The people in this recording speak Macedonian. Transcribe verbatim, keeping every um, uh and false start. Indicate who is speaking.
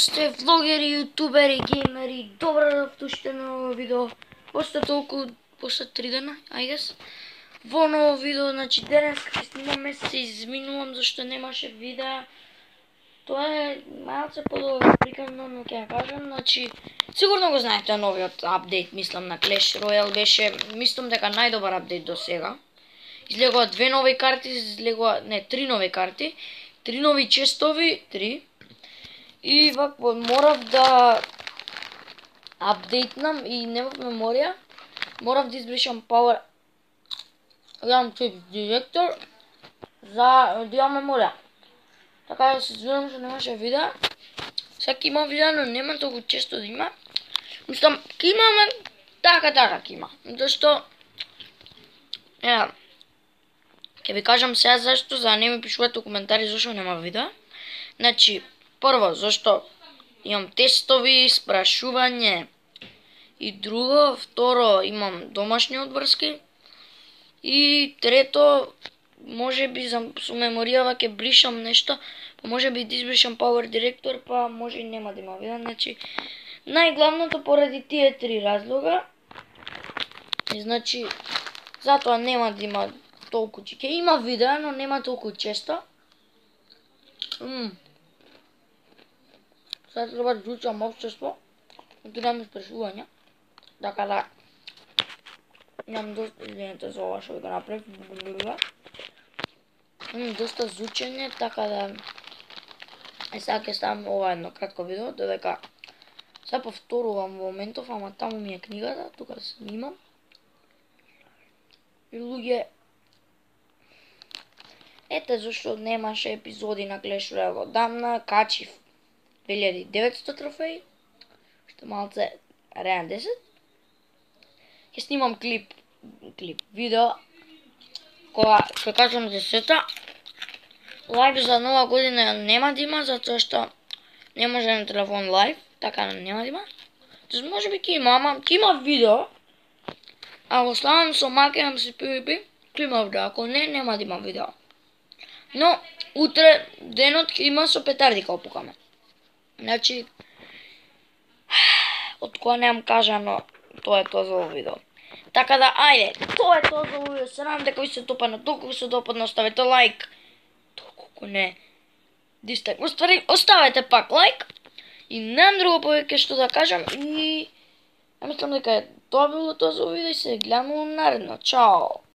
Speaker 1: сте влогери, јутубери, геймери, добро дошле на ново видео. После толку, после три дена, I guess. Во ново видео, значи денес ќе снимаме, се изминувам зашто немаше видео. Тоа е малце подолго прикано, но ќе ја кажам, значи сигурно го знаете новиот апдейт, мислам на Clash Royale беше, мислам дека најдобар апдейт до сега. Излегува две нови карти, излегува, не, три нови карти, три нови честови, три. И вако морав да апдейтнам и немав меморија. Морав да избришам Power Ram Chip Director за да имам меморија. Така да се извинувам што немаше видео. Сега има видео, но нема толку често да има. Мислам, ке имаме така така ке има. Зашто е, ќе ви кажам сега зашто, за да не ми пишувате коментари зашто нема видео. Значи, прво, зашто имам тестови, спрашување и друго, второ, имам домашни одврски и трето, може би за, со меморијава ќе бришам нешто, па може би да избришам Power Director, па може и нема да има видео. Значи, најглавното поради тие три разлога, и значи, затоа нема да има толку, ќе има видео, но нема толку често. Мм. Сега треба да изучам општество, да немам спрашувања, така да имам доста, извинете за ова што ви го направив, имам доста зучење, така да е сега ќе ставам ова едно кратко видео, додека сега повторувам во моментов, ама таму ми е книгата, тука снимам. И луѓе, ете зашто немаше епизоди на Clash Royale одамна, качив две илјади и деветсто трофеи, што малце реан десет. Ќе снимам клип, клип, видео, кога ќе кажам десета. Лайв за нова година нема да има, затоа што не може на телефон лайв, така нема да има. Тоест може би ќе има, ама ќе има видео. Ако ставам со макерам си PvP, ќе има видео, ако не, нема да има видео. Но, утре денот ќе има со петарди кога пукаме. Значи, од која немам кажано, тоа е тоа за ово видео. Така да, ајде, тоа е тоа за ово видео. Се надам дека ви се допадна, толку ви се допадна, оставете лайк. Толку не. Дистак. Оствари, оставете пак лайк. И немам друго повеќе што да кажам. И, ја мислам дека е тоа било тоа за ово видео и се гледаме наредно. Чао!